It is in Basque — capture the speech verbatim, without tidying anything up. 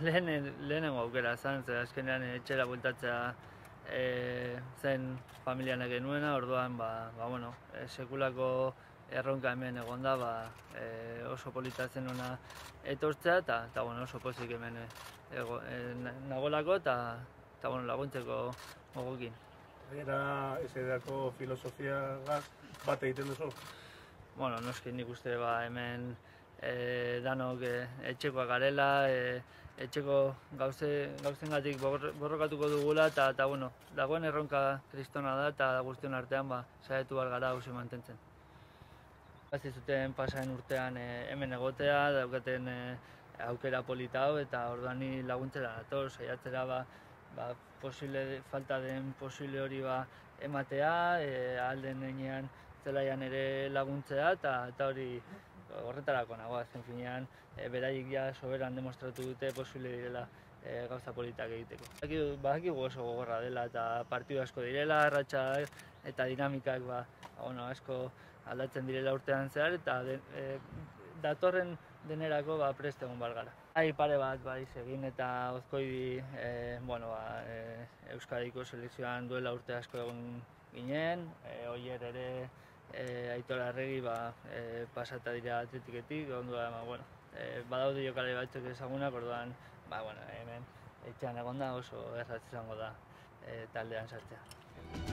lehen, lehenengo aukera zen, ze azkenean etxera bueltatzea e, zen familianek genuena, orduan ba, ba, bueno, e, sekulako erronka hemen egonda, ba, e, oso polita zen ona etortzea, eta bueno, oso pozik hemen ego, e, nagolako, eta bueno, laguntzeko gogokin. Gainera, ez edako filosofiagaz bat egiten duzu? Bueno, noski nik uste ba, hemen e, danok e, etxekoak garela, e, etxeko gauze, gauzengatik borrokatuko dugula, eta, eta bueno, dagoen erronka kristona da, eta guztion artean ba, saiatu behar gara hausi mantentzen. Hasi zuten pasaren urtean e, hemen egotea, daukaten e, aukera polita hau, eta orduan ni laguntzera dator, saiatzera ba, ba, posible, falta den posible hori ba, ematea, e, ahal den heinean zelaian ere laguntzea, eta, eta hori horretarako nagoa, zen finean, e, beraiek ja soberan demostratu dute posible direla e, gauza politak egiteko. Badakigu oso gogorra dela eta partidu asko direla, arratsa eta dinamikak ba, bueno, asko aldatzen direla urtean zehar, eta de, e, datorren denerako ba, prest egon behar gara. Hai pare bat bai egin eta Ozkoidi e, bueno, ba, e, Euskadiko selekzioan duela urte asko egon ginen, e, oier ere e, Aitor Arregi ba, e, pasata dira atletiketik, ondua, ba, bueno, e, badaude jokalari batzuk ezagunak, orduan, ba, bueno, hemen etxean egonda oso erratz izango da e, taldean sartzea.